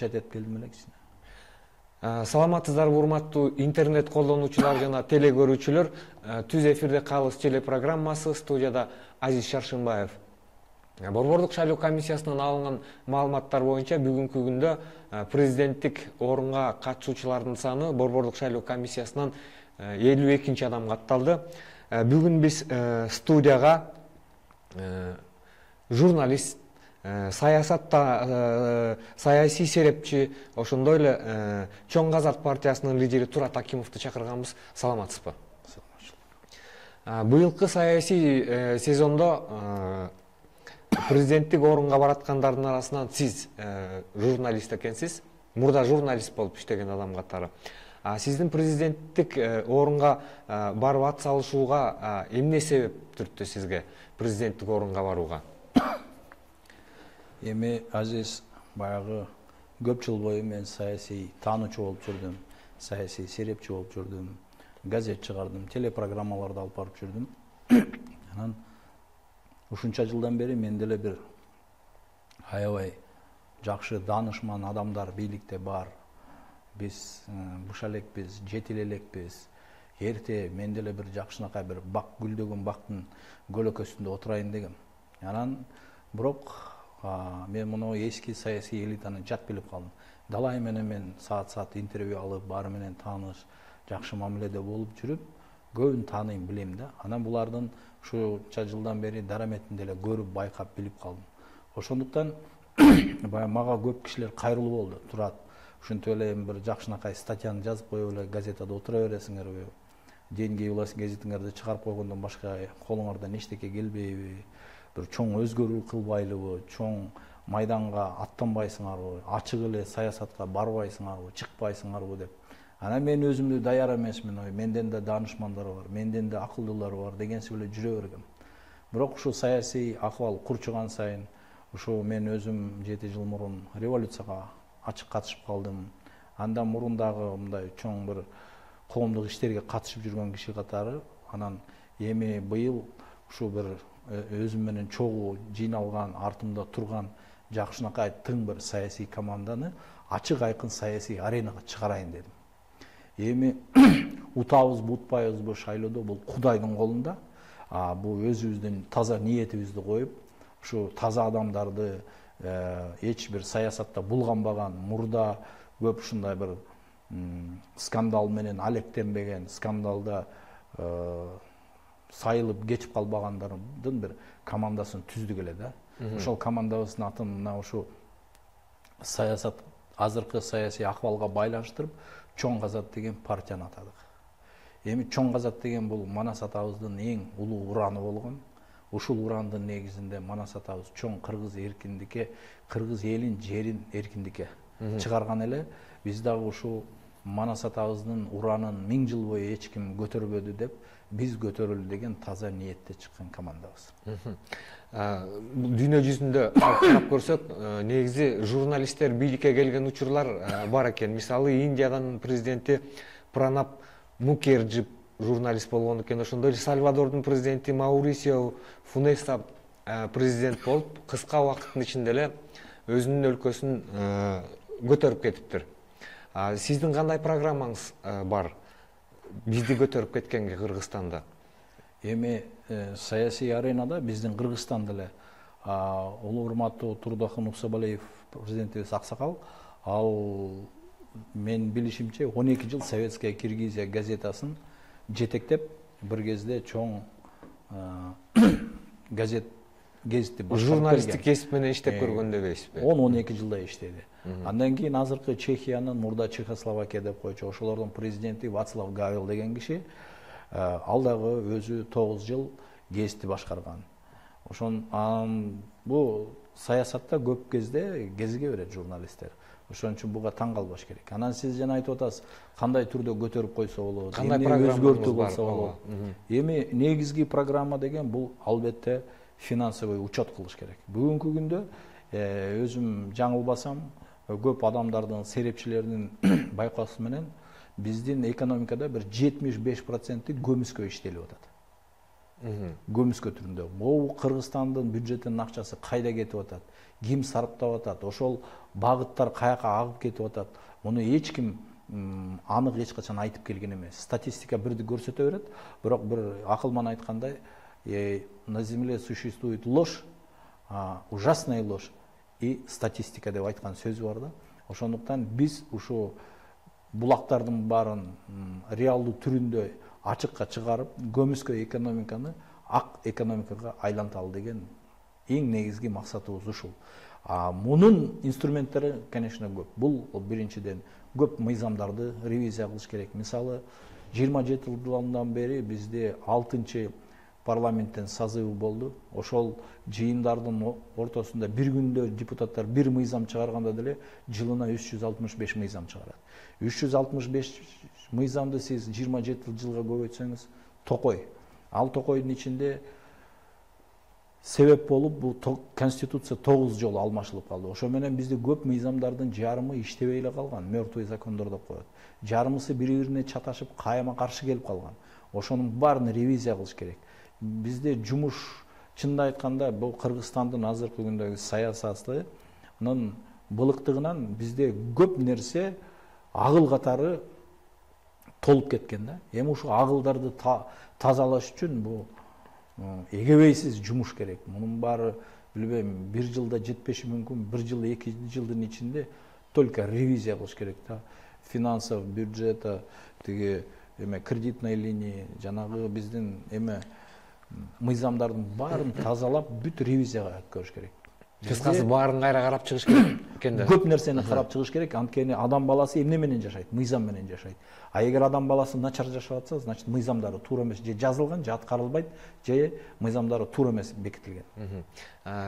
этип келдим эле кичине. Саламатсыздарбы урматтуу интернет колдонуучулар жана теле көрүүчүлөр. Түз эфирде Калыс телепрограммасы, студияда Азиз Шаршынбаев. Борбордук шайлоо комиссиясынан алынган маалыматтар боюнча бүгүнкү күндө президенттик орунга катышуучулардын саны Борбордук шайлоо комиссиясынан 52 адам катталды. Бүгүн биз студияга журналист, саясий серепчи, ошондой эле Чоң Казак партиясынын лидери Турат Акимовду чакырганбыз. Саламатсызбы? Быйылкы саясий сезондо президенттик орунга бараткандардын арасынан сиз журналист экенсиз. Мурда журналист болуп иштеген адам катары. Сиздин президенттик орунга барып ат салышууга эмне себеп түрттү сизге президенттик орунга барууга? Эми Азиз, баягы көп жыл бою мен саясий таануучу болуп жүрдүм, саясий серепчи болуп жүрдүм, газет чыгардым, телепрограммаларды алып барып жүрдүм. Анан ушунча жылдан бери мен деле бир аябай жакшы даанышман адамдар бийликте бар. Биз буша элекпиз, жетил элекпиз. Эрте мен деле бир жакшынакай бир бак, гүлдөгөн бактын көлөкөсүндө отурайын дегем. Анан бирок мен муну эски саясий элитаны жат билип калдым. Далай менен мен саат интервью алып, баары менен тааныш, жакшы мамиледе болуп жүрүп, көбүн тааныйм, билем да. Анан булардын ушунча жылдан бери дараметин деле көрүп, байкап, билип калдым. Ошондуктан баягы мага көп кишилер кайрылуу болду. Турат, ушинтип эле бир жакшынакай статьяны жазып коюп эле газетада отура бересиңерби? Деньги улас гезитиңерди чыгарып койгондон башка колуңардан эчтеке келбейби? Бир чоң өзгөрүү кылбайлыбы, чоң майданга аттанбайсыңарбы, ачык эле саясатка барбайсыңарбы, чыкпайсыңарбы деп. Анан мен өзүмдү даяр эмесмин, менден да даанышмандар бар, менден да акылдуулар бар дегенсип эле жүрө бергем. Бирок ушу саясий акыбал курчуган сайын, ушу мен өзүм 7 жыл мурун революцияга ачык катышып калдым. Андан мурун дагы мындай чоң бир коомдук иштерге катышып жүргөн киши катары. Анан эми быйыл ушу бир өзүм менен чогуу жыйналган, артымда турган жакшынакай тың бир саясий команданы ачык айкын саясий аренага чыгарайын дедим. Эми утабызбы, утпайбызбы шайлоодо бул Кудайдын колунда. Бул өзүбүздүн таза ниетибизди коюп, ушу таза адамдарды эч бир саясатта булганбаган, мурда көп ушундай бир скандал менен алектенбеген, скандалда сайылып кечип калбагандардын бир командасын түздүк эле да. Ошол командабыздын атын мына ушу саясат, азыркы саясий акыбалга байланыштырып Чоң Казак деген партияны атадык. Эми Чоң Казак деген бул Манас атабыздын эң улуу ураны болгон. Ушул урандын негизинде Манас атабыз чоң кыргыз эркиндикке, кыргыз элин, жерин эркиндикке чыгарган эле. Биз дагы ушул Манас атабыздын уранын 1000 жыл бою эч ким көтөрбөдү деп, биз көтөрөлү деген таза ниетте чыккан командабыз. Дүйнө жүзүндө карап көрсөк, негизи журналисттер бийликке келген учурлар бар экен. Мисалы, Индиянын президенти Пранаб Мукерджи журналист болгон экен. Ошондой эле Сальвадордун президенти Маурисио Фунеса президент болуп, кыска убакыттын ичинде эле өзүнүн өлкөсүн көтөрүп кетиптир. Сиздин кандай программаңыз бар бизди көтөрүп кеткенге Кыргызстанда? Эми саясий аренада биздин Кыргызстанда эле улуу урматтуу Турдахун Уксабалиев президентибиз аксакал, ал мен билишимче 12 жыл Советская Киргизия газетасын жетектеп, бир кезде чоң газетти башкарып журналисттик кесип менен иштеп көргөн дебейсизби? 10-12 жылдай иштеди. Андан кийин азыркы Чехиянын, мурда Чехословакия деп койчу, ошолордун президенти Вацлав Гавел деген киши, ал дагы өзү 9 жыл гезитти башкарган. Бул саясатта көп кезде кезиге берет журналисттер. Ошон үчүн буга таң калбаш керек. Анан сиз жана айтып атасыз, кандай түрдө көтөрүп койсо болот, кандай өзгөртүү болсо болот. Эми негизги программа деген бул албетте финансовый учет кылыш керек. Бүгүнкү күндө өзүм жаңылбасам, көп адамдардын, серепчилердин байкоосу менен биздин экономикада бир 75% көмүскө иштелип атат. көмүскө түрүндө. Могу Кыргызстандын бюджетинин акчасы кайда кетип атат, ким сарптап атат, ошол багыттар каяка агып кетип атат, муну эч ким анык эч качан айтып келген эмес. Статистика бирди көрсөтө берет, бирок бир акылман айткандай, на земле существует ложь, ужасная ложь и статистика деп айткан сөзү бар да. Ошондуктан биз ушу булактардын баарын реалдуу түрүндө ачыкка чыгарып, көмүскө экономиканы ак экономикага айланталы деген эң негизги максатыбыз ушул. Мунун инструменттери, конечно, көп. Бул биринчиден көп мыйзамдарды ревизия кылыш керек. Мисалы, 27 жылдан бери бизде 6-чы парламенттин созывы болду. Ошол жыйындардын ортосунда бир күндө депутаттар бир мыйзам чыгарганда деле жылына 365 мыйзам чыгарат. 365 мыйзамды сиз 27 жылга көбөйтсөңүз токой. Ал токойдун ичинде себеп болуп бул конституция 9 жолу алмашылып калды. Ошо менен бизде көп мыйзамдардын жарымы иштебей эле калган, мертвый закондор деп коет. Жарымысы бири-бирине чаташып, кайма каршы келип калган. Ошонун баарын ревизия кылыш керек. Бизде жумуш, чынында айтканда, бул Кыргызстандын азыркы күндөгү саясатынын былыктыгынан бизде көп нерсе агыл катары толуп кеткен да. Эми ушу агылдарды тазалаш үчүн бул эгебейсиз жумуш керек. Мунун баары билбейм, бир жылда жетпеши мүмкүн, бир жыл, 2 жылдын ичинде только ревизия кылыш керек да. Финансов, бюджета, тиги кредитный линия, жанагы биздин мыйзамдардын баарын тазалап, бүт ревизияга өткөрүш керек. Кыскасы баарын кайра карап чыгыш керек экен да. Көп нерсени карап чыгыш керек, анткени адам баласы эмне менен жашайт? Мыйзам менен жашайт. Эгер адам баласы начар жашап атса, значит мыйзамдары туура эмес, же жазылган, же аткарылбайт, же мыйзамдары туура эмес бекитилген.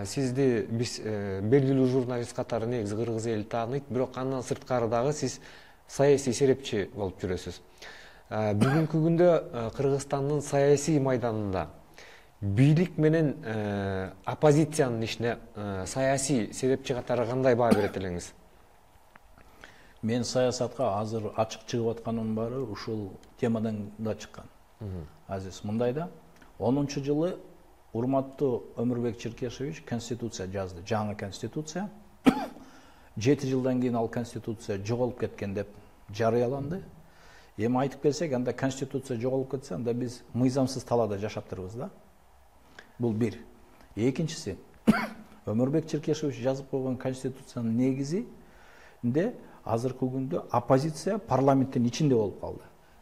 Сизди биз белгилүү журналист катары негизи кыргыз эли тааныйт, бирок андан сырткары дагы сиз саясий серепчи болуп жүрөсүз. Бүгүнкү күндө Кыргызстандын саясий майданында бийлик менен оппозициянын ишине саясий серепчи катары кандай баа берет элеңиз? Мен саясатка азыр ачык чыгып атканымдын баары ушул темадан да чыккан. Азиз, мындай да, 10-жылы урматтуу Өмүрбек Черкешевич конституция жазды, жаңы конституция. 7 жылдан кийин ал конституция жоголуп кеткен деп жарыяланды. Эми айтып келсек, анда конституция жоголуп кетсе, анда биз мыйзамсыз талаада жашаптырбыз да. Бул бир. Экинчиси, Өмүрбек Черкешевич жазып койгон конституциянын негизинде азыркы күндө оппозиция парламенттин ичинде болуп калды.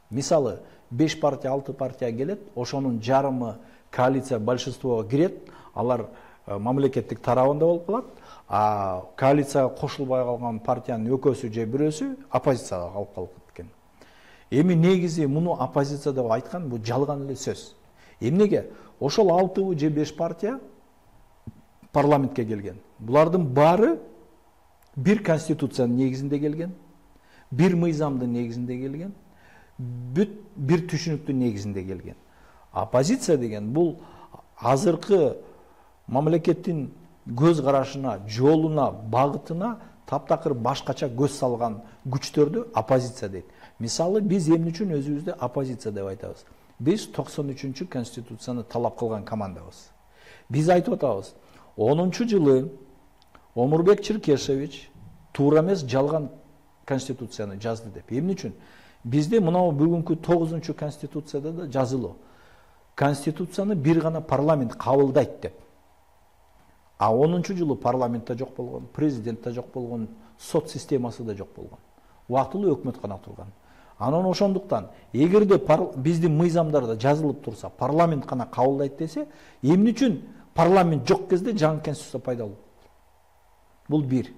Мисалы, 5 партия, 6 партия келет, ошонун жарымы коалиция большинствого кирет, алар мамлекеттик тарабында болуп калат, а коалицияга кошулбай калган партиянын экөөсү же бирөөсү оппозицияга калып кеткен. Эми негизи муну оппозиция деп айткан, бул жалган эле сөз. Эмнеге? Ошол 6 же 5 партия парламентке келген. Булардын баары бир конституциянын негизинде келген, бир мыйзамдын негизинде келген, бир түшүнүктүн негизинде келген. Оппозиция деген бул азыркы мамлекеттин көз карашына, жолуна, багытына таптакыр башкача көз салган күчтөрдү оппозиция дейт. Мисалы, биз эмне үчүн өзүбүздү оппозиция деп айтабыз? Биз 93-чү конституцияны талап кылган командабыз. Биз айтып атабыз, 10-жылы Өмүрбек Черкешевич туура эмес, жалган конституцияны жазды деп. Эмне үчүн? Бизде мынау бүгүнкү 9-чу конституцияда да жазылуу. Конституцияны бир гана парламент кабылдайт деп. А 10-жылы парламентте жок болгон, президентте жок болгон, сот системасы да жок болгон. Убактылуу өкмөт гана турган. Анан ошондуктан, эгерде биздин мыйзамдарда жазылып турса, парламент гана кабылдайт десе, эмне үчүн парламент жок кезде жаңы конституция пайда болот? Бул бир.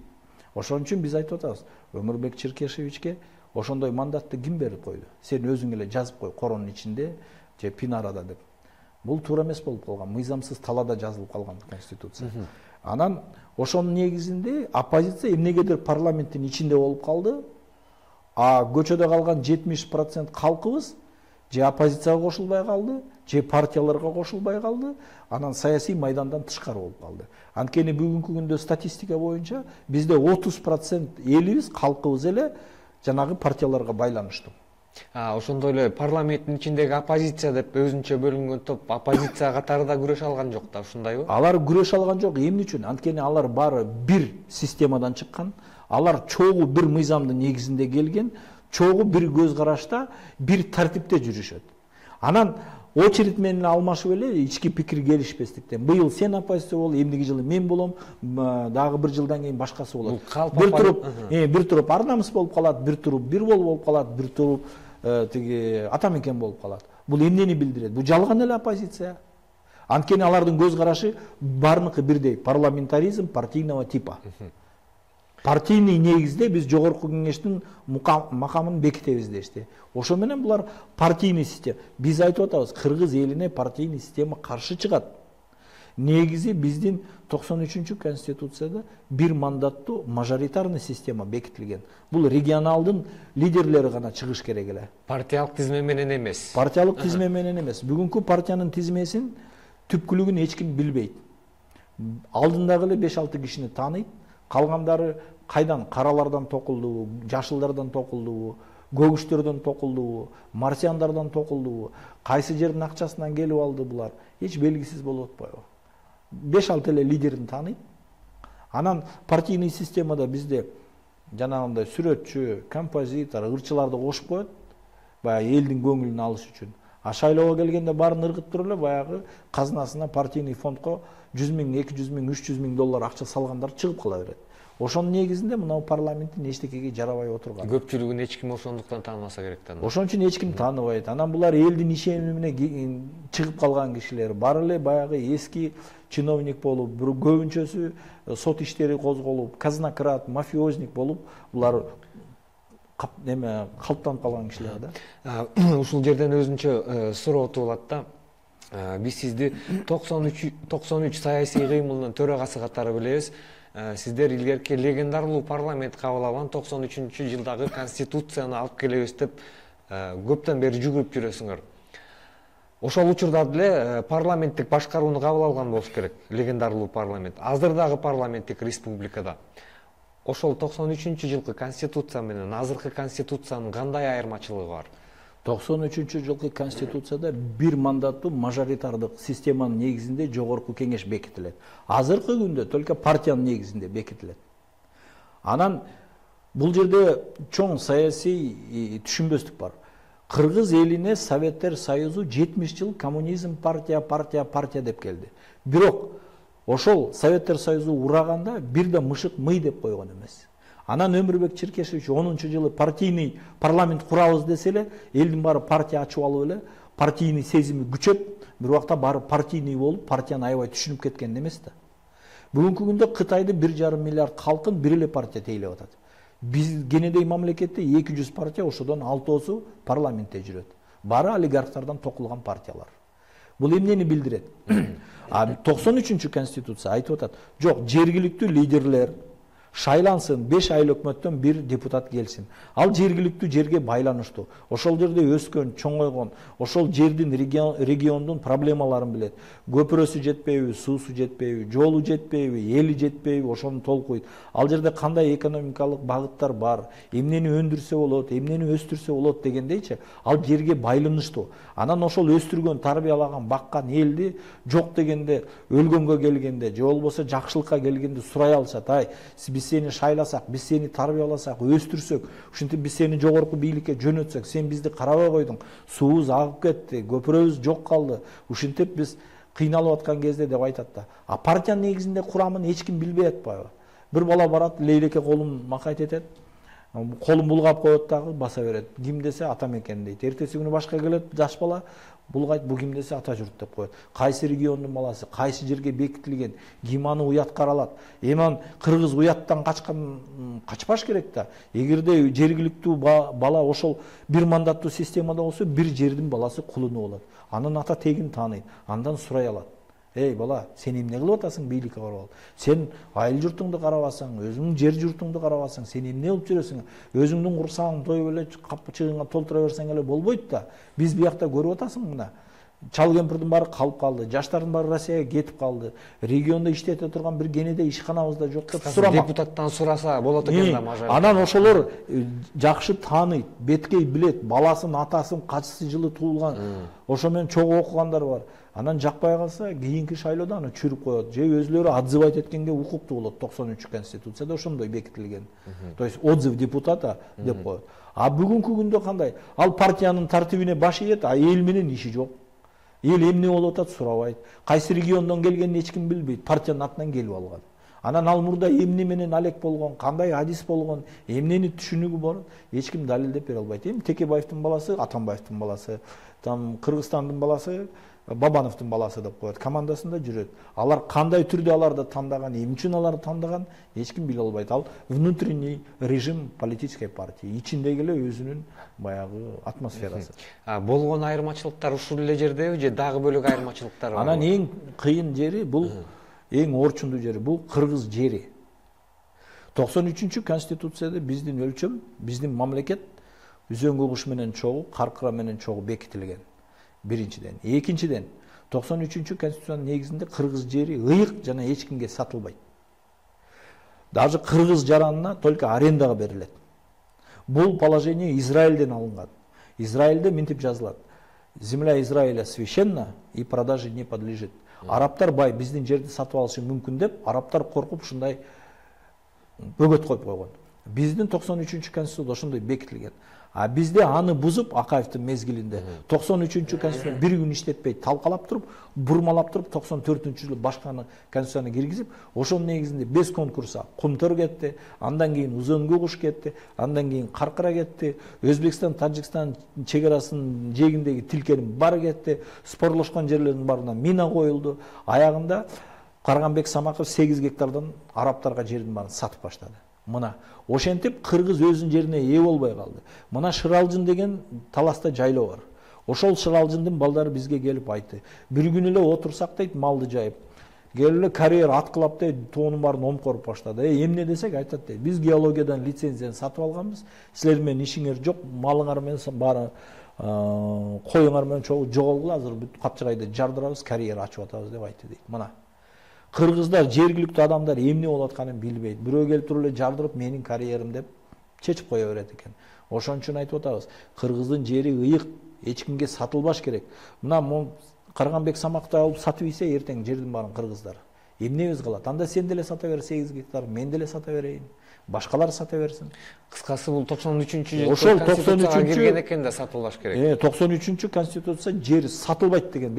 Ошон үчүн биз айтып атабыз, Өмүрбек Черкешевичке ошондой мандатты ким берип койду? Сен өзүң эле жазып кой коронун ичинде же пинарада деп. Бул туура эмес болуп калган, мыйзамсыз талаада жазылып калган конституция. Анан ошонун негизинде оппозиция эмнегедир парламенттин ичинде болуп калды, а көчөдө калган 70% калкыбыз же оппозицияга кошулбай калды, же партияларга кошулбай калды, анан саясий майдандан тышкары болуп калды. Анткени бүгүнкү күндө статистика боюнча бизде 30% элибиз, калкыбыз эле жанагы партияларга байланыштуу. Ошондой эле парламенттин ичиндеги оппозиция деп өзүнчө бөлүнгөн топ оппозиция катары күрөш алган жок да, ушундайбы? Алар күрөш алган жок. Эмне үчүн? Анткени алар баары бир системадан чыккан. Алар чогуу бир мыйзамдын негизинде келген, чогуу бир көз карашта, бир тартипте жүрүшөт. Анан очередь менен алмашып эле ички пикир келишпестиктен. Быйыл сен оппозиция бол, эмдиги жылы мен болом, дагы бир жылдан кийин башкасы болот. Бир туруп Арнамыс болуп калат, бир туруп бир болуп калат, бир туруп тиги Атамекен болуп калат. Бул эмнени билдирет? Бул жалган эле оппозиция. Анткени алардын көз карашы баарыныкы бирдей, парламентаризм партийного типа. Партийный негизде биз жогорку кеңештин макамын бекитебиз дешти. Ошо менен булар партийный система. Биз айтып атабыз, кыргыз элине партийный система каршы чыгат. Негизи биздин 93-конституцияда бир мандаттуу мажоритарный система бекитилген. Бул регионалдын лидерлери гана чыгыш керек эле. Партиялык тизме менен эмес. Партиялык тизме менен эмес. Бүгүнкү партиянын тизмесин түпкүлүгүн эч ким билбейт. Алдындагы эле 5-6 кишини тааныйт. Калгандары кайдан? Каралардан токулдубу, жашылдардан токулдубу, көгүчтөрдөн токулдубу, марсиандардан токулдубу, кайсы жердин акчасынан келип алды булар? Эч белгисиз болуп атпайбы? 5-6 эле лидерин тааныйт. Анан партийный системада бизде жанагындай сүрөтчү, композитор, ырчыларды кошуп коет, баягы элдин көңүлүн алыш үчүн. Шайлоого келгенде баарын ыргыттырып эле баягы казынасына, партийный фондко 100 000, 200 000, 300 000 доллар акча салгандар чыгып кала берет. Ошонун негизинде мынау парламенттин эчтекеге жарабай отурган. Көпчүлүгүн эч ким ошондуктан таанымаса керек да. Ошон үчүн эч ким тааныбайт. Анан булар элдин ишеними менен чыгып калган кишилер. Баары эле баягы эски чиновник болуп, көбүнчөсү сот иштери козголуп, казнократ, мафиозник болуп, булар калыптанып калган кишилер да. Ушул жерден өзүнчө суроо туулат да. Биз сизди 93 саясий кыймылдын төрагасы катары билебиз. Сиздер илгерки легендарлуу парламент кабыл алган 93-жылдагы конституцияны алып келебиз деп көптөн бери жүгүрүп жүрөсүңөр. Ошол учурда деле парламенттик башкарууну кабыл алган болуш керек, легендарлуу парламент. Азырдагы парламенттик республикада ошол 93-жылкы конституция менен азыркы конституциянын кандай айырмачылыгы бар? 93-жылкы конституцияда бир мандаттуу мажоритардык системанын негизинде жогорку кеңеш бекитилет. Азыркы күндө только партиянын негизинде бекитилет. Анан бул жерде чоң саясий түшүнбөстүк бар. Кыргыз элине Советтер Союзу 70 жыл коммунизм партия деп келди. Бирок ошол Советтер Союзу ураганда бир да мышык мый деп койгон эмес. Анан Өмүрбек Черкешевич 10-жылы партийный парламент курабыз десе эле, элдин баары партия ачып алып эле, партийный сезими күчөп, бир убакта баары партийный болуп, партияны аябай түшүнүп кеткен эмес да. Бүгүнкү күндө Кытайды 1,5 миллиард калкын бир эле партия тейлеп атат. Биз кенедей мамлекетте 200 партия, ошодон 6-осу парламентте жүрөт. Баары олигархтардан токулган партиялар. Бул эмнени билдирет? 93-конституция айтып атат, жок, жергиликтүү лидерлер шайлансын, 5 ай өкмөттөн бир депутат келсин. Ал жергиликтүү жерге байланыштуу. Ошол жерде өскөн, чоңойгон, ошол жердин региондун проблемаларын билет. Көпүрөсү жетпейби, суусу жетпейби, жолу жетпейби, эли жетпейби, ошону толкуйт. Ал жерде кандай экономикалык багыттар бар, эмнени өндүрсө болот, эмнени өстүрсө болот дегендейчи, ал жерге байланыштуу. Анан ошол өстүргөн, тарбиялаган, баккан элди жок дегенде, өлгөнгө келгенде, же болбосо жакшылыкка келгенде сурай алышат. Ай, биз сени шайласак, биз сени тарбияласак, өстүрсөк, ушинтип биз сени жогорку бийликке жөнөтсөк, сен бизди карабай койдуң, суубуз агып кетти, көпүрөбүз жок калды. Ушинтип биз кыйналып аткан кезде деп айтат да. А партиянын негизинде курамын эч ким билбей атпайбы? Бир бала барат, лейлеке колун макайт этет. Колун булгап коет дагы, баса берет. Ким десе Атамекен дейт. Эртеси күнү башка келет жаш бала, булгайт, бу ким десе Ата журт деп коет. Кайсы региондун баласы, кайсы жерге бекитилген, ким аны уят каралат. Эми кыргыз уяттан качпаш керек да. Эгерде жергиликтүү бала ошол бир мандаттуу системада болсо, бир жердин баласы кулуну болот. Анын ата тегин тааныйт, андан сурай алат. Эй бала, сен эмне кылып атасың бийликке барып? Сен айыл журтуңду карабасаң, өзүңдүн жер журтуңду карабасаң, сен эмне кылып жүрөсүң? Өзүңдүн курсагың тоюп эле капчыгыңа толтура берсең эле болбойт да. Биз биякта көрүп атасың мына. чал кемпирдин баары калып калды, жаштардын баары Россияга кетип калды, региондо иштете турган бир кенеде ишканабыз да жок деп сурамак. Депутаттан сураса болот экен да мажоритет. Анан ошолор жакшы тааныйт, беткей билет, баласын, атасын качсы жылы туулган, ошо менен чогуу окугандар бар. Анан жакпай калса кийинки шайлоодо аны чүрүп коет, же өзүлөрү отзывать эткенге укуктуу болот. 93 конституцияда ошондой бекитилген. То есть отзыв депутата деп коет. А бүгүнкү күндө кандай? Ал партиянын тартибине баш ийет, а эл менен иши жок. Эл эмне болуп атат сурабайт. Кайсы региондон келгенин эч ким билбейт. Партиянын атынан келип алган. Анан ал мурда эмне менен алек болгон, кандай адис болгон, эмнени түшүнүгү бар, эч ким далилдеп бере албайт. Эми Текебаевдин баласы, Атамбаевдин баласы, там Кыргызстандын баласы, Бабановдун баласы деп коет. Командасында жүрөт. Алар кандай түрдө аларды тандаган, эмне үчүн аларды тандаган, эч ким биле албайт. Ал внутренний режим политической партии. Ичиндеги эле өзүнүн баягы атмосферасы. Болгон айырмачылыктар ушул эле жердеби же дагы бөлөк айырмачылыктар бар? Анан эң кыйын жери бул, эң орчундуу жери бул кыргыз жери. 93 конституцияда биздин өлчөм, биздин мамлекет Үзөңгү куш менен чогуу, Каркыра менен чогуу бекитилген. Биринчиден. Экинчиден, 93 конституциянын негизинде кыргыз жери ыйык жана эч кимге сатылбайт. Даже кыргыз жаранына только арендага берилет. Бул положение Израилден алынган. Израилде мынтип жазылат. Земля Израиля священна и продаже не подлежит. Арабтар бай биздин жерди сатып алышы мүмкүн деп, арабтар коркуп ушундай бөгөт коюп койгон. Биздин 93 конституцияда ошондой бекитилген. А бизде аны бузуп Акаевдин мезгилинде 93 конституцияны бир күн иштетпей талкалап туруп, бурмалап туруп 94-жылы башканы конституцияны киргизип, ошонун негизинде без конкурса Кумтөр кетти, андан кийин Үзөңгү куш кетти, андан кийин Каркыра кетти, Өзбекстан, Тажикстан чек арасынын жээгиндеги тилкенин баары кетти, спорлошкон жерлердин баарына мина коюлду. Аягында Карганбек Самаков 8 гектардан арабтарга жердин баарын сатып баштады. Мына ошентип кыргыз өзүнүн жерине ээ болбой калды. Мына Шыралжын деген таласта жайлоо бар. Ошол Шыралжындын балдары бизге келип айтты. Бир күн эле отурсак дейт, малды жайып. Келип эле карьер аткылап дейт, тоонун баарын омкоруп баштады. Эмне десек айтат дейт. Биз геологиядан лицензияны сатып алганбыз. Силер менен ишиңер жок, малыңар менен баары коюңар менен чогуу жоголгула, азыр бүт капчыгайды жардырабыз, карьер ачып атабыз деп айтты дейт. Мына кыргыздар, жергиликтүү адамдар эмне болуп атканын билбейт. Бирөө келип туруп эле жардырып, менин карьерим деп чечип кое берет экен. Ошон үчүн айтып атабыз, кыргыздын жери ыйык, эч кимге сатылбаш керек. Мына Карганбек Самакты алып сатып ийсе, эртең жердин баарын кыргыздар. Эмнебиз калат? Анда сен деле сата бер 8 гектар, мен деле сата берейин. Башкалар сата берсин. Кыскасы бул 93-жылы конституцияга кирген экен да сатылбаш керек. 93 конституция жер сатылбайт деген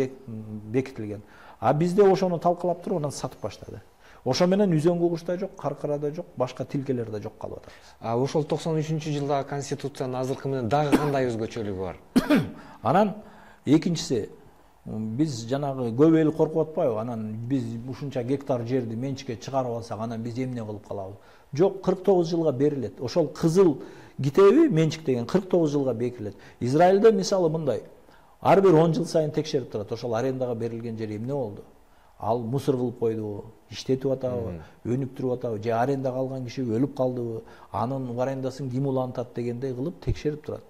бекитилген. А бизде ошону талкалап туруп, анан сатып баштады. Ошо менен Үзөңгү кушта жок, Каркырада жок, башка тилкелер да жок калып атабыз. Ошол 93-жылдагы конституциянын азыркы менен дагы кандай өзгөчөлүгү бар? Анан экинчиси, биз жанагы көп эл коркуп атпайбы? Анан биз ушунча гектар жерди менчикке чыгарып алсак, анан биз эмне кылып калабыз? Жок, 49 жылга берилет. Ошол кызыл китеби менчик деген 49 жылга берилет. Израилде мисалы мындай. Ар бир 10 жыл сайын текшерип турат. Ошол арендага берилген жер эмне болду? Ал мусор кылып койдубу, иштетип атабы, өнүктүрүп атабы, же арендага алган киши өлүп калдыбы, анын арендасын ким улантат дегендей кылып текшерип турат.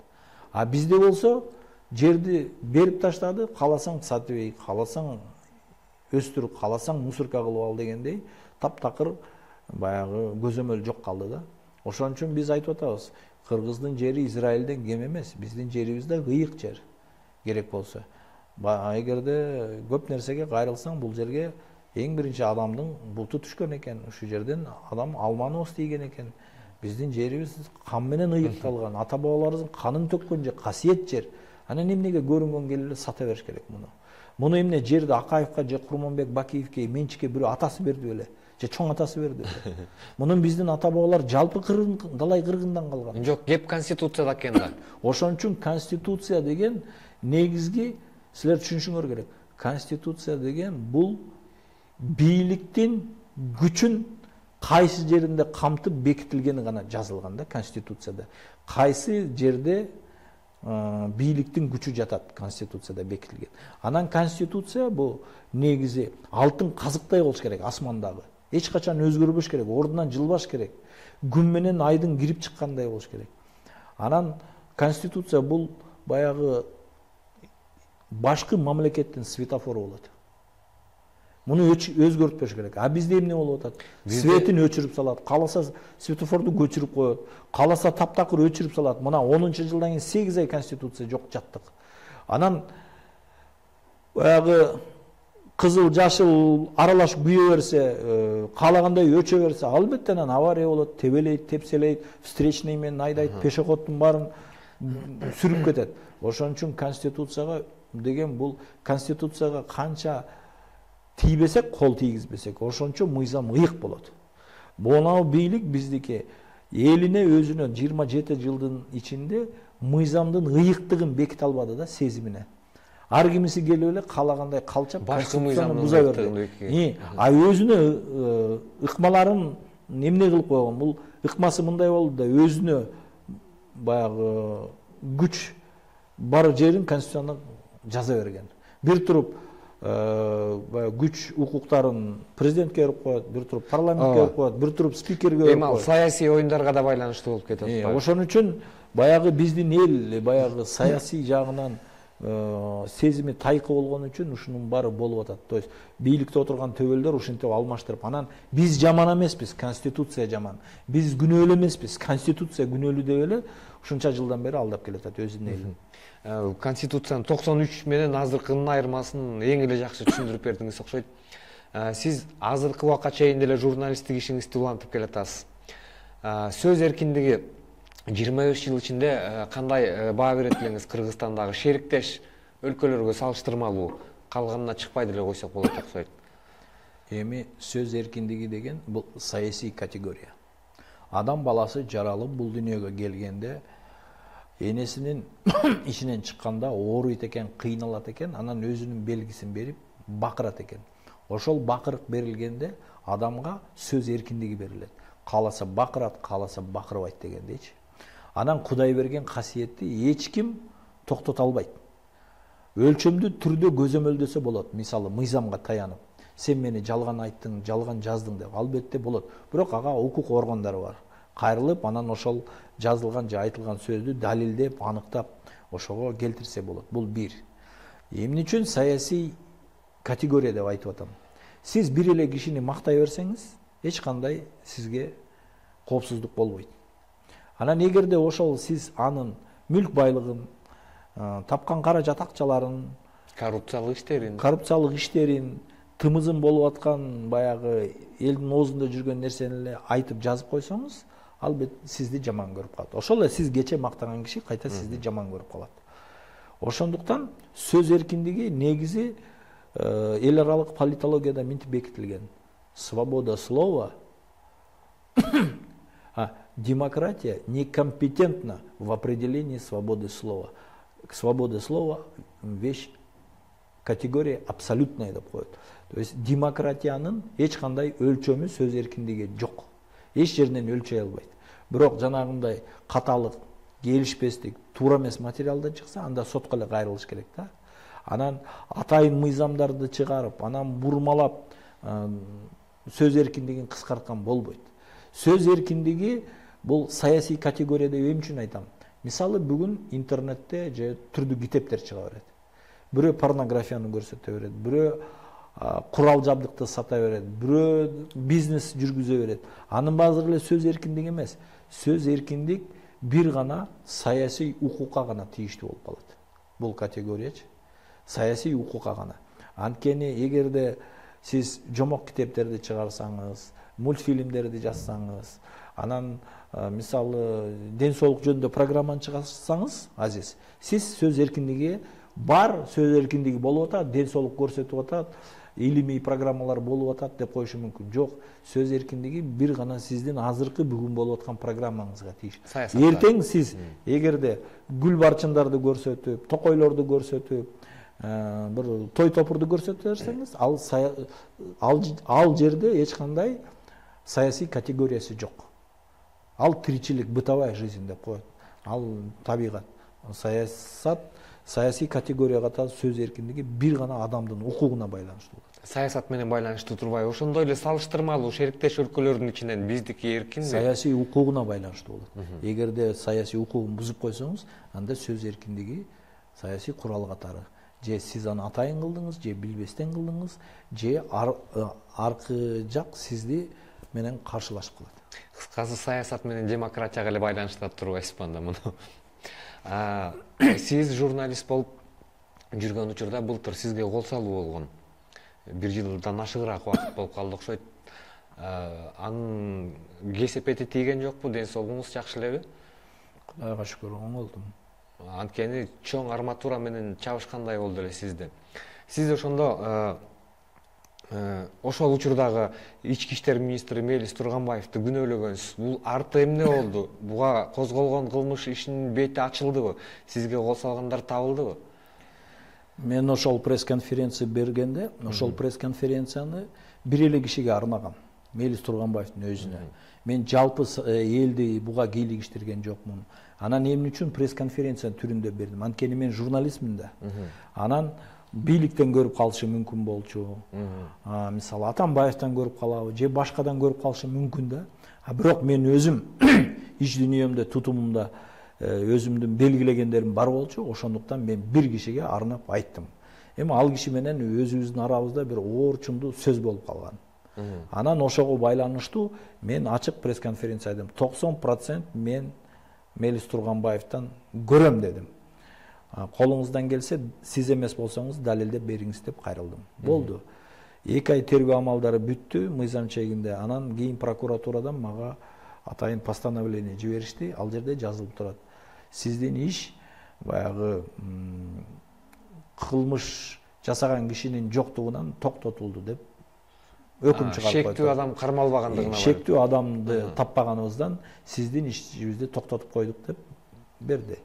А бизде болсо жерди берип таштады, кааласаң сатып эй, кааласаң өстүр, кааласаң мусорка кылып ал дегендей таптакыр баягы көзөмөл жок калды да. Ошон үчүн биз айтып атабыз, кыргыздын жери Израилден кем эмес, биздин жерибиз да ыйык жер. Керек болсо. Эгерде көп нерсеге кайрылсаң, бул жерге эң биринчи адамдын буту түшкөн экен. Ушул жерден адам алманы остийген экен. Биздин жерибиз кан менен ыйыкталган, ата бабаларыбыздын канын төккөн жер, касиет жер. Анан эмнеге көрүнгөн келип эле сата бериш керек муну? Муну эмне жерди Акаевка же Курманбек Бакиевке менчикке бирөө атасы берди беле? Же чоң атасы берди беле? Мунун биздин ата бабалар жалпы далай кыргындан калган. Жок, кеп конституцияда экен да. Ошон үчүн конституция деген негизги силер түшүнүшүңөр керек. Конституция деген бул бийликтин күчүн кайсы жеринде камтып бекитилгени гана жазылган да конституцияда. Кайсы жерде бийликтин күчү жатат конституцияда бекитилген. Анан конституция бул негизи алтын казыктай болуш керек асмандагы. Эч качан өзгөрбөш керек, ордунан жылбаш керек. Күн менен айдын кирип чыккандай болуш керек. Анан конституция бул баягы башкы мамлекеттин светофору болот. Муну өзгөртпөш керек. А бизде эмне болуп атат? Светин өчүрүп салат, кааласа светофорду көчүрүп коет, кааласа таптакыр өчүрүп салат. Мына 10-жылдан кийин 8 ай конституция жок жаттык. Анан баягы кызыл жашыл аралаш күйө берсе, каалагандай өчө берсе, албетте анан авария болот, тебелейт, тепселейт, встречный менен айдайт, пешеходдун баарын сүрүп кетет. Ошон үчүн конституцияга деген бул конституцияга канча тийбесек, кол тийгизбесек, ошончо мыйзам ыйык болот. Бул бийлик биздики элине өзүнө 27 жылдын ичинде мыйзамдын ыйыктыгын беките албады да, сезимине. Ар кимиси келип эле каалагандай калчап башкы мыйзамды буза берди. А өзүнө ыкмаларын эмне кылып койгон? Бул ыкмасы мындай болду да, өзүнө баягы күч бар жерин конституцияда жаза берген. Бир туруп күч укуктарын президентке берип коет, бир туруп парламентке берип коет, бир туруп спикерге берип коет. Саясий оюндарга да байланыштуу болуп кетет. Ошон үчүн баягы биздин эл баягы саясий жагынан сезими тайкы болгон үчүн ушунун баары болуп атат. То есть бийликте отурган төбөлдөр ушинтип алмаштырып, анан биз жаман эмеспиз, конституция жаман. Биз күнөөлүү эмеспиз, конституция күнөөлүү деп эле ушунча жылдан бери алдап келатат өзүнүн элин. Конституциянын 93 менен азыркынын айырмасын эң эле жакшы түшүндүрүп бердиңиз окшойт. Сиз азыркы убакка чейин деле журналисттик ишиңизди улантып келатасыз. Сөз эркиндиги 25 жыл ичинде кандай баа берет элеңиз Кыргызстандагы шериктеш өлкөлөргө салыштырмалуу? Калганына чыкпай деле койсок болот окшойт. Эми сөз эркиндиги деген бул саясий категория. Адам баласы жаралып бул дүйнөгө келгенде энесинин ичинен чыкканда ооруйт экен, кыйналат экен, анан өзүнүн белгисин берип бакырат экен. Ошол бакырык берилгенде адамга сөз эркиндиги берилет. Кааласа бакырат, кааласа бакырбайт дегендейчи. Анан Кудай берген касиетти эч ким токтото албайт. Өлчөмдүү түрдө көзөмөлдөсө болот. Мисалы, мыйзамга таянып, сен мени жалган айттың, жалган жаздың деп, албетте болот. Бирок ага укук органдары бар. Кайрылып, анан ошол жазылган же айтылган сөздү далилдеп, аныктап, ошого келтирсе болот. Бул бир. Эмне үчүн саясий категория деп айтып атам? Сиз бир эле кишини мактай берсеңиз, эч кандай сизге коопсуздук болбойт. Анан эгерде ошол сиз анын мүлк байлыгын, тапкан каражат акчаларын, коррупциялык иштерин, тымызын болуп аткан баягы элдин оозунда жүргөн нерсени эле айтып жазып койсоңуз, албетте сизди жаман көрүп калат. Ошол эле сиз кече мактаган киши кайта сизди жаман көрүп калат. Ошондуктан сөз эркиндиги негизи эл аралык политологияда мынтип бекитилген. Свобода слова демократия некомпетентна в определении свободы слова. Свобода слова вещь, категория абсолютная деп коет. То есть демократиянын эч кандай өлчөмү, сөз эркиндиги жок. Эч жеринен өлчөй албайт. Бирок жанагындай каталык, келишпестик, туура эмес материалдар чыкса, анда сотко эле кайрылыш керек да. Анан атайын мыйзамдарды чыгарып, анан бурмалап сөз эркиндигин кыскарткан болбойт. Сөз эркиндиги бул саясий категория деп эмне үчүн айтам? Мисалы, бүгүн интернетте же түрдүү китептер чыга берет. Бирөө порнографияны көрсөтө берет, бирөө курал жабдыкты сата берет, бирөө бизнес жүргүзө берет. Анын баары эле сөз эркиндиги эмес. Сөз эркиндик бир гана саясий укукка гана тийиштүү болуп калат. Бул категориячы саясий укукка гана. Анткени эгерде сиз жомок китептерди чыгарсаңыз, мультфильмдерди жазсаңыз, анан мисалы ден соолук жөнүндө программаны чыгарсаңыз, азиз, сиз сөз эркиндиги бар, сөз эркиндиги болуп атат, ден соолук көрсөтүп атат, илимий программалар болуп атат деп коюшу мүмкүн. Жок, сөз эркиндиги бир гана сиздин азыркы бүгүн болуп аткан программаңызга тийиш. Эртең сиз эгерде гүл барчындарды көрсөтүп, токойлорду көрсөтүп, бир той топурду көрсөтө берсеңиз, ал жерде эч кандай саясий категориясы жок. Ал тиричилик, бытовая жизнь деп коет. Ал табигат. Саясат, саясий категорияга та сөз эркиндиги бир гана адамдын укугуна байланыштуу. Саясат менен байланыштуу турбайбы? Ошондой эле салыштырмалуу шериктеш өлкөлөрдүн ичинен биздики эркинби? Саясий укугуна байланыштуу болот. Эгерде саясий укугун бузуп койсоңуз, анда сөз эркиндиги саясий курал катары же сиз аны атайын кылдыңыз, же билбестен кылдыңыз, же аркы жак сизди менен каршылашып калат. Кыскасы саясат менен демократияга эле байланыштап турбайсызбы анда муну? Сиз журналист болуп жүргөн учурда былтыр сизге кол салуу болгон. 1 жылдан ашыгыраак убакыт болуп калды окшойт. Анын кесепети тийген жокпу? Ден соолугуңуз жакшы элеби? Кудайга шүкүр, оңолдум. Анткени чоң арматура менен чабышкандай болду эле сизде. Сиз ошондо ошол учурдагы ички иштер министри Мелис Турганбаевди күнөөлөгөнсүз. Бул арты эмне болду? Буга козголгон кылмыш ишинин бети ачылдыбы? Сизге кол салгандар табылдыбы? Мен ошол пресс-конференция бергенде, ошол пресс-конференцияны бир эле кишиге арнагам. Мелис Турганбаевдин өзүнө. Мен жалпы элди буга кийлигиштирген жокмун. Анан эмне үчүн пресс-конференция түрүндө бердим? Анткени мен журналистмин да. Анан бийликтен көрүп калышы мүмкүн болчу. Мисалы Атамбаевден көрүп калабы, же башкадан көрүп калышы мүмкүн да. Бирок мен өзүм ич дүйнөмдө, тутумумда өзүмдүн белгилегендерим бар болчу. Ошондуктан мен бир кишиге арнап айттым. Эми ал киши менен өзүбүздүн арабызда бир оорчундуу сөз болуп калган. Анан ошого байланыштуу мен ачык пресс-конференция айттым. 90% мен Мелис Турганбаевден көрөм дедим. Колуңуздан келсе, сиз эмес болсоңуз далилдеп бериңиз деп кайрылдым. Болду. 2 ай тергөө амалдары бүттү мыйзам чегинде. Анан кийин прокуратурадан мага атайын постановление жиберишти. Ал жерде жазылып турат. Сиздин иш баягы кылмыш жасаган кишинин жоктугунан токтотулду деп өкүм чыгарып койду. Шектүү адам кармалбагандыгына. Шектүү адамды таппаганыбыздан сиздин ишибизди токтотуп койдук деп берди.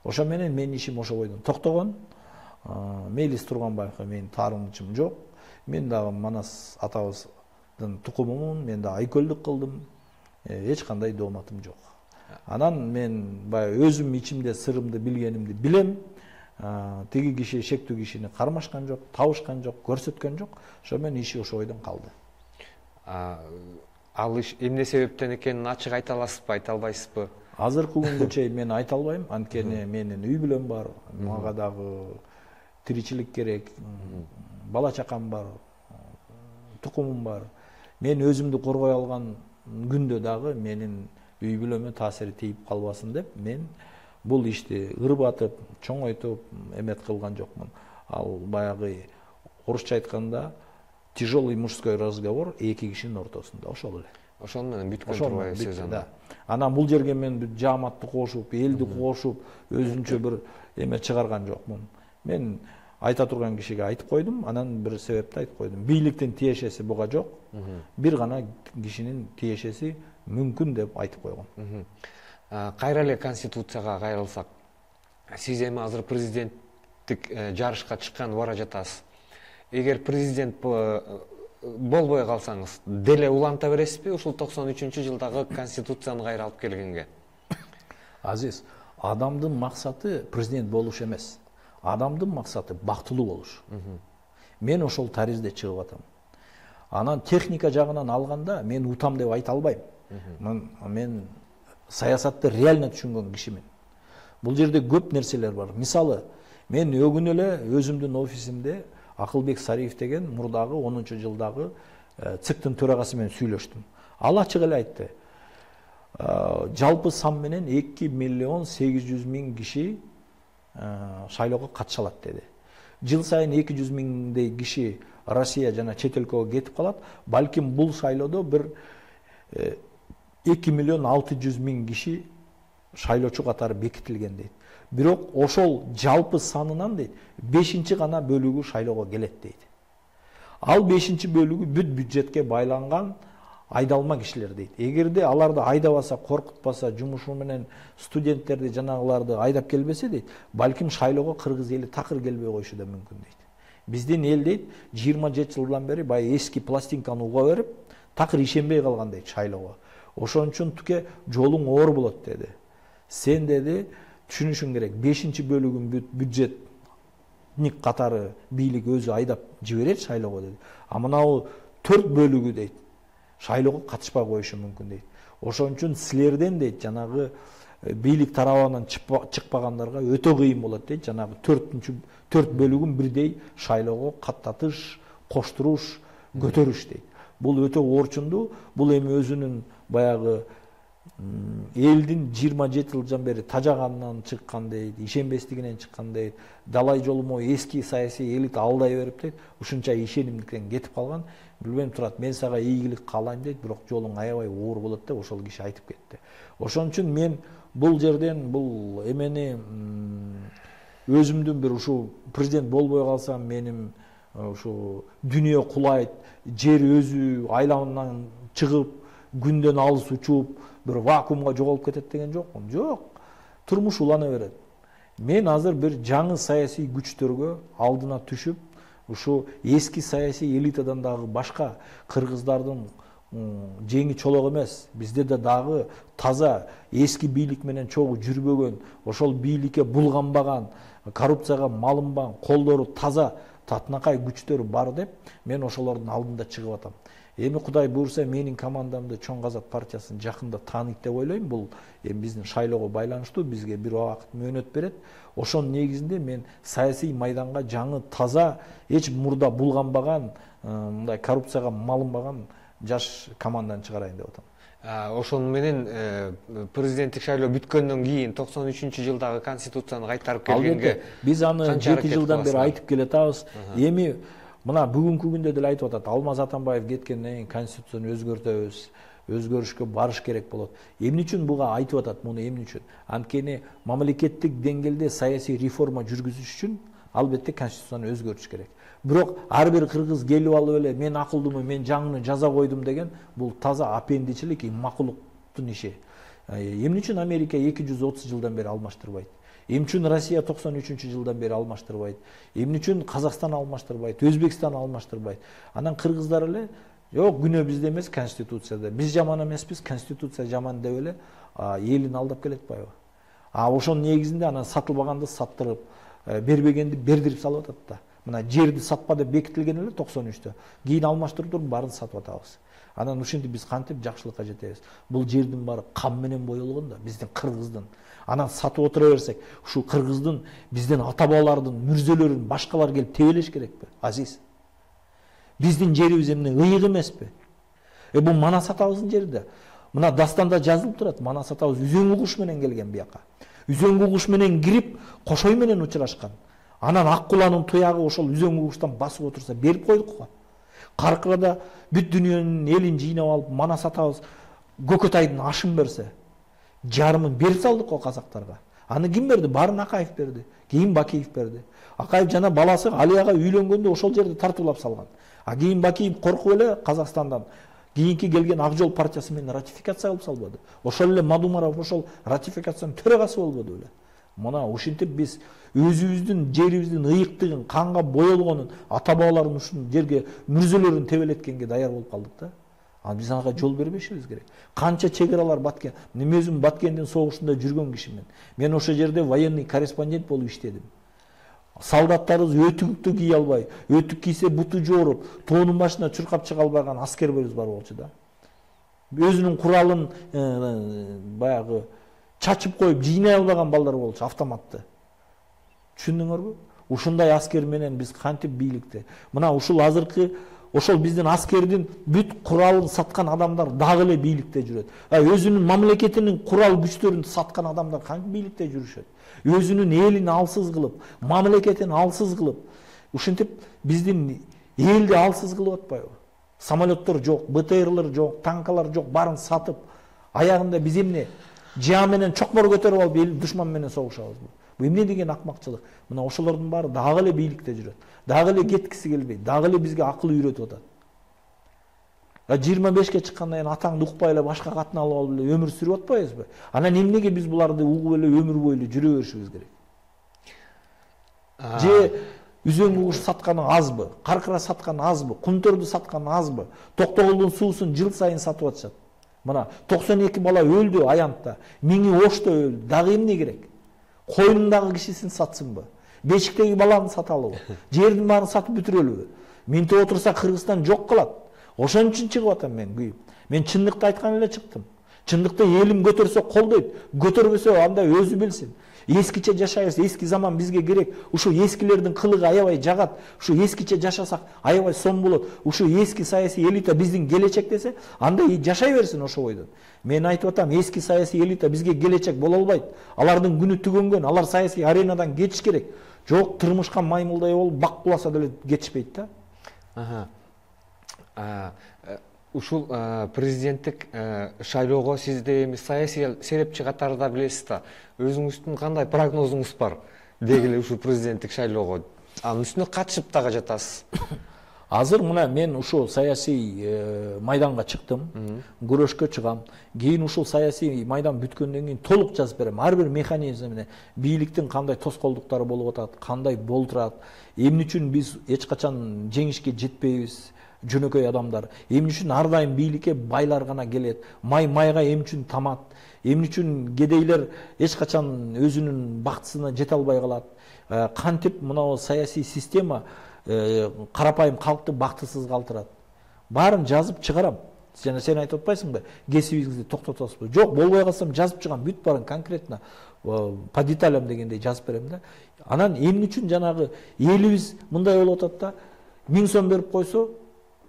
Ошо менен менин ишим ошо бойдон токтогон. Мелис Турганбаевга менин таарынычым жок. Мен дагы Манас атабыздын тукумумун, мен да айкөлдүк кылдым. Эч кандай дооматым жок. Анан мен баягы өзүм ичимде сырымды билгенимди билем. Тиги киши шектүү кишини кармашкан жок, табышкан жок, көрсөткөн жок. Ошо менен иши ошо бойдон калды. Ал иш эмне себептен экенин ачык айта аласызбы, айта албайсызбы? Азыркы күнгө чейин мен айта албайм, анткени менин үй бүлөм бар, мага дагы тиричилик керек, бала чакам бар, тукумум бар. Мен өзүмдү коргой алган күндө дагы менин үй бүлөмө таасири тийип калбасын деп мен бул ишти ырбатып, чоңойтуп эмет кылган жокмун. Ал баягы орусча айтканда тяжелый мужской разговор эки кишинин ортосунда, ошол эле. Ошону менен бүткөн турбайбы сөз анда. Анан бул жерге мен жааматты кошуп, элди кошуп, өзүнчө бир эме чыгарган жокмун. Мен айта турган кишиге айтып койдум, анан бир себепти айтып койдум. Бийликтин тиешеси буга жок. Бир гана кишинин тиешеси мүмкүн деп айтып койгон. Кайра эле Конституцияга кайрылсак, сиз эми азыр президенттик жарышка чыккан бара жатасыз. Эгер президент болбой калсаңыз, деле уланта бересизби ушул 93-жылдагы Конституцияны кайра алып келгенге? Азиз, адамдын максаты президент болуш эмес. Адамдын максаты бактылуу болуш. Мен ошол таризде чыгып атам. Анан техника жагынан алганда мен утам деп айта албайм. Мен саясатты реально түшүнгөн кишимин. Бул жерде көп нерселер бар. Мисалы, мен өгүн эле өзүмдүн офисимде Акылбек Сариев деген мурдагы 10-жылдагы ЦИКтин төрагасы менен сүйлөштүм. Ал ачык эле айтты. Жалпы сан менен 2.800.000 киши шайлоого катыша алат деди. Жыл сайын 200.000 киши Россия жана чет өлкөгө кетип калат. Балким бул шайлоодо бир 2.600.000 киши шайлоочу катары бекитилген дейт. Бирок ошол жалпы санынан дейт 5-чи гана бөлүгү шайлоого келет дейт. Ал 5-чи бөлүгү бүт бюджетке байланган айдалма кишилер дейт. Эгерде аларды айдабаса, коркутпаса, жумушу менен студенттерди жанагыларды айдап келбесе дейт, балким шайлоого кыргыз эли такыр келбей коюшу да мүмкүн дейт. Биздин эл дейт 27 жылдан бери баягы эски пластинканы уга берип, такыр ишенбей калган дейт шайлоого. Ошон үчүн туке жолуң оор болот деди. Сен деди түшүнүшүң керек, 5-чи бөлүгүн бюджетник катары бийлик өзү айдап жиберет шайлоого деди. А мынау 4 бөлүгү дейт шайлоого катышпай коюшу мүмкүн дейт. Ошон үчүн силерден дейт жанагы бийлик тарабынан чыкпагандарга өтө кыйын болот дейт. Жанагы 4 бөлүгүн бирдей шайлоого каттатыш, коштуруш, көтөрүш дейт. Бул өтө орчундуу. Бул эми өзүнүн баягы элдин 27 жылдан бери тажаганынан чыккан дейт, ишенбестигинен чыккан дейт. Далай жолумо эски саясий элита алдай берип дейт. Ушунча ишенимдиктен кетип калган. Билбейм турат, мен сага ийгилик каалайм дейт, бирок жолуң аябай оор болот деп ошол киши айтып кетти. Ошон үчүн мен бул жерден бул эмени өзүмдүн бир ушу президент болбой калсам менин ушу дүйнө кулайт, жер өзү айламынан чыгып, күндөн алыс учуп, бир вакуумга жоголуп кетет деген жокмун. Жок. Турмуш улана берет. Мен азыр бир жаңы саясий күчтөргө алдына түшүп, ушу эски саясий элитадан дагы башка кыргыздардын жеңи чолок эмес, бизде да дагы таза эски бийлик менен чогуу жүрбөгөн, ошол бийликке булганбаган, коррупцияга малынбаган, колдору таза татынакай күчтөр бар деп, мен ошолордун алдында чыгып атам. Эми Кудай буйрса менин командамды Чоң Казак партиясын жакында тааныйт деп ойлойм. Бул эми биздин шайлоого байланыштуу, бизге бир убакыт мөөнөт берет. Ошонун негизинде мен саясий майданга жаңы таза, эч мурда булганбаган, мындай коррупцияга малынбаган жаш команданы чыгарайын деп атам. Ошону менен президенттик шайлоо бүткөндөн кийин 93-жылдагы конституцияны кайтарып келгенге биз аны 7 жылдан бери айтып келатабыз. Эми мына бүгүнкү күндө деле айтып атат, Алмаз Атамбаев кеткенден кийин конституцияны өзгөртөбүз, өзгөрүшкө барыш керек болот. Эмне үчүн буга айтып атат, муну эмне үчүн? Анткени мамлекеттик деңгээлде саясий реформа жүргүзүш үчүн албетте конституцияны өзгөртүш керек. Бирок ар бир кыргыз келип алып эле мен акылдымын, мен жаңыны жаза койдум деген бул таза апендичилик, макулуктун иши. Эмне үчүн Америка 230 жылдан бери алмаштырбайт? Эмне үчүн Россия 93-жылдан бери алмаштырбайт? Эмне үчүн Казакстан алмаштырбайт? Өзбекстан алмаштырбайт? Анан кыргыздар эле жок, күнөө бизде эмес, конституцияда. Биз жаман эмеспиз, конституция жаман деп эле элин алдап келет атпайбы? Ошонун негизинде анан сатылбаганды саттырып, бербегенди бердирип салып атат да. Мына жерди сатпа деп бекитилген эле 93-тө. Кийин алмаштырып туруп баарын сатып атабыз. Анан ушинтип биз кантип жакшылыкка жетебиз? Бул жердин баары кан менен боелгон да, биздин кыргыздын. Анан сатып отура берсек, ушу кыргыздын, биздин ата-бабалардын мүрзөлөрүн башкалар келип тебелеш керекпи? Азиз. Биздин жерибиз эмне ыйык эмеспи? Бул Манас атабыздын жери да. Мына дастанда жазылып турат, Манас атабыз үзөңгү куш менен келген бияка. Үзөңгү куш менен кирип, кошой менен учурашкан. Анан ак куланын туягы ошол үзөңгү куштан басып отурса берип койдук го. Каркырада бүт дүйнөнүн элин жыйнап алып, Манас атабыз Көкөтайдын ашын берсе, жарымын берип салдык го казактарга. Аны ким берди? Барын Акаев берди. Кийин Бакиев берди. Акаев жана баласы Алияга үйлөнгөндө ошол жерде тартуулап салган. Кийин Бакиев коркуп эле Казакстандан кийинки келген Ак Жол партиясы менен ратификация кылып салбады. Ошол эле Мадумаров ошол ратификациянын төрагасы болбоду беле. Мына ушинтип биз өзүбүздүн жерибиздин ыйыктыгын, канга боелгонун, ата-бабалардын ушул жерге мүрзөлөрүн тебелеткенге даяр болуп калдык да. Биз ага жол бербешибиз керек. Канча чек аралар баткен. Мен өзүм Баткендин согушунда жүргөн кишимин. Мен ошол жерде военный корреспондент болуп иштедим. Солдаттарыбыз өтүктү кий албай, өтүк кийсе буту жооруп, тоонун башына чуркап чыга албаган аскерберибиз бар болчу да. Өзүнүн куралын баягы чачып коюп жыйнай албаган балдар болчу, автоматты. Түшүндүңөрбү? Ушундай аскер менен биз кантип бийликте. Мына ушул азыркы ошол биздин аскердин бүт куралын саткан адамдар дагы эле бийликте жүрөт. Өзүнүн мамлекетинин курал күчтөрүн саткан адамдар кантип бийликте жүрүшөт? Өзүнүн элин алсыз кылып, мамлекетин алсыз кылып, ушинтип биздин элди алсыз кылып атпайбы? Самолеттор жок, БТРлер жок, танкалар жок, баарын сатып, аягында биз эмне жаа менен чокмор көтөрүп алып эл душман менен согушабызбы? Бу эмне деген акмакчылык? Мына ошолордун баары дагы эле бийликте жүрөт. Дагы эле кеткиси келбейт, дагы эле бизге акыл үйрөтүп атат. 25ке чыккандан кийин атаңды укпай эле башка катын алып алып эле өмүр сүрүп атпайбызбы? Анан эмнеге биз буларды угуп эле өмүр бою эле жүрө беришибиз керек? Же үзөңгү куш сатканы азбы? Каркыра сатканы азбы? Кунтөрдү сатканы азбы? Токтогулдун суусун жыл сайын сатып атышат. Мына 92 бала өлдү аянтта, 1000 Ошто өлдү. Дагы эмне керек? Койнундагы кишисин сатсынбы? Бешиктеги баланы саталыбы? Жердин баарын сатып бүтүрөлүбү? Минтип отурса Кыргызстан жок калат. Ошон үчүн чыгып атам мен күйүп. Мен чындыкты айткан эле чыктым. Чындыкта элим көтөрсө колдойт, көтөрбөсө анда өзү билсин. Ескиче жашайбыз, эски заман бизге керек. Ушу эскилердин кылыгы аябай жагат. Ушу эскиче жашасак аябай сом болот. Ушу эски саясий элита биздин келечек десе, анда жашай берсин ошо бойдон. Мен айтып атам, эски саясий элита бизге келечек боло албайт. Алардын күнү түгөнгөн, алар саясий аренадан кетиш керек. Жок, турмушка маймылдай болуп бак куласа деле кетишпейт да. Ушул президенттик шайлоого сизде эми саясий серепчи катарында билесиз да. Өзүңүздүн кандай прогнозуңуз бар дегиле ушул президенттик шайлоого? Анын үстүнө катышып дагы жатасыз. Азыр мына мен ушул саясий майданга чыктым, күрөшкө чыгам. Кийин ушул саясий майдан бүткөндөн кийин толук жазып берем. Ар бир механизм менен бийликтин кандай тоскоолдуктары болуп атат, кандай болтурат, эмне үчүн биз эч качан жеңишке жетпейбиз, жөнөкөй адамдар. Эмне үчүн ар дайым бийликке байлар гана келет, майга эмне үчүн тамат, эмне үчүн кедейлер эч качан өзүнүн бактысына жете албай калат. Кантип мына саясий система карапайым калкты бактысыз калтырат. Баарын жазып чыгарам. Жана сен айтып атпайсыңбы, кесибиңизди токтотосузбу? Жок, болбой калсам жазып чыгам, бүт баарын конкретно по деталям дегендей жазып берем да. Анан эмне үчүн жанагы элибиз мындай болуп атат да, 1000 сом берип койсо,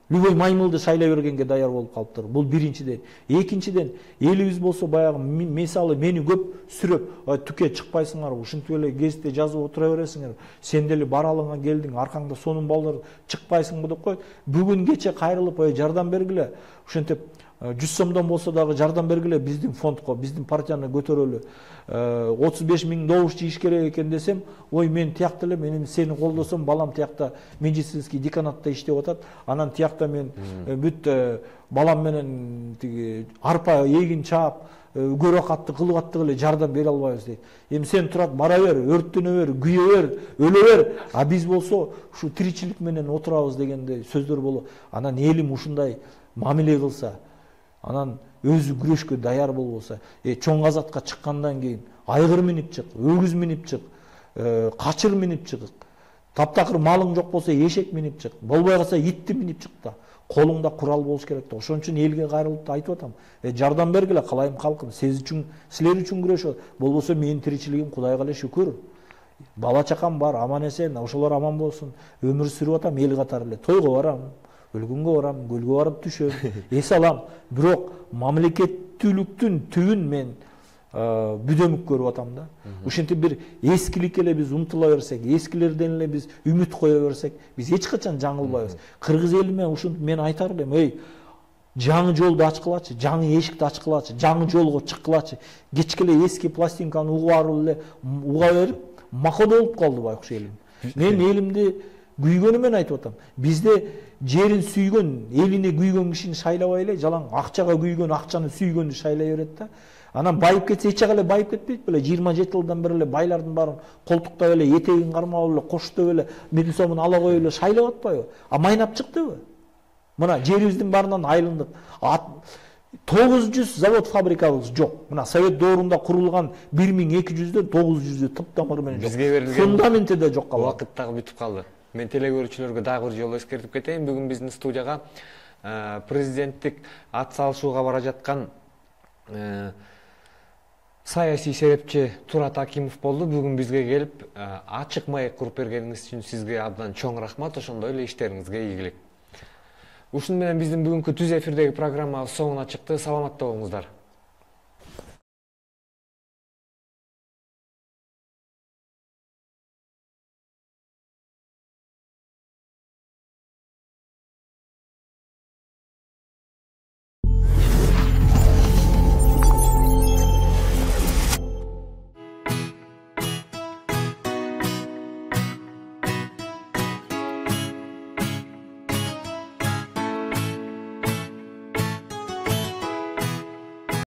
любой маймылды шайлай бергенге даяр болуп калыптыр. Бул биринчиден. Экинчиден, элибиз болсо баягы мисалы мени көп сүрөп, түкө чыкпайсыңар, ушинтип эле гезитте жазып отура бересиңер. Сен деле баралыңа келдиң, аркаңда сонун балдар чыкпайсыңбы деп коет. Бүгүн кече кайрылып, жардам бергиле. Ушинтип 100 сомдон болсо дагы жардам бергиле биздин фондко, биздин партияны көтөрөлү. 35 000 добуш жийиш керек экен десем, ой мен тиякта эле, мен сени колдосом, балам тиякта медицинский деканатта иштеп атат. Анан тиякта мен бүт балам менен тиги арпа эгин чаап, көрө катты кылып аттык эле жардам бере албайбыз дейт. Эми сен турат, бара бер, өрттөнө бер, күйө бер, өлө бер. А биз болсо ушу тиричилик менен отурабыз дегенде сөздөр болот. Анан элим ушундай мамиле кылса, анан өзү күрөшкө даяр болбосо, чоң азатка чыккандан кийин айгыр минип чык, өгүз минип чык, качыр минип чык, таптакыр малың жок болсо эшек минип чык, болбой калса итти минип чык да. Колуңда курал болуш керек да. Ошон үчүн элге кайрылып айтып атам. Жардам бергиле калайым калкым, силер үчүн күрөшөт. Болбосо менин тиричилигим Кудайга эле шүкүр. Бала чакам бар, аман эсен, ошолор аман болсун. Өмүр сүрүп атам эл катары эле. Тойго барам, өлгөнгө барам, көлгө барып түшөм, эс алам. Бирок мамлекеттүүлүктүн түбүн мен бүдөмүк көрүп атам да. Ушинтип бир эскиликке эле биз умтула берсек, эскилерден эле биз үмүт кое берсек, биз эч качан жаңылбайбыз. Кыргыз элиме ушинтип мен айтар элем, жаңы жолду ачкылачы, жаңы эшикти ачкылачы, жаңы жолго чыккылачы. Кечке эле эски пластинканы уга берип, макода болуп калды байкуш элим. Мен элимди күйгөнү менен айтып атам. Бизде жерин сүйгөн, элине күйгөн кишини шайлабай эле, жалаң акчага күйгөн, акчаны сүйгөндү шайлай берет да. Анан байып кетсе эч жагы эле байып кетпейт беле. 27 жылдан бери эле байлардын баарын колтуктап эле, этегин кармап эле, коштоп эле, 1000 сомун ала коюп эле шайлап атпайбы? А майнап чыктыбы? Мына жерибиздин баарынан айылындык. 900 завод фабрикабыз жок. Мына Совет доорунда курулган 1200дөн 900 тыптамыр менен жок. Бизге берилген фундаменти да жок калды. Убакыт дагы бүтүп калды. Мен телекөрүүчүлөргө дагы бир жолу эскертип кетейин. Бүгүн биздин студияга президенттик ат салышууга бара жаткан саясий серепчи Турат Акимов болду. Бүгүн бизге келип ачык маек куруп бергениңиз үчүн сизге абдан чоң рахмат. Ошондой эле иштериңизге ийгилик. Ушуну менен биздин бүгүнкү түз эфирдеги программабыз соңуна чыкты. Саламатта болуңуздар.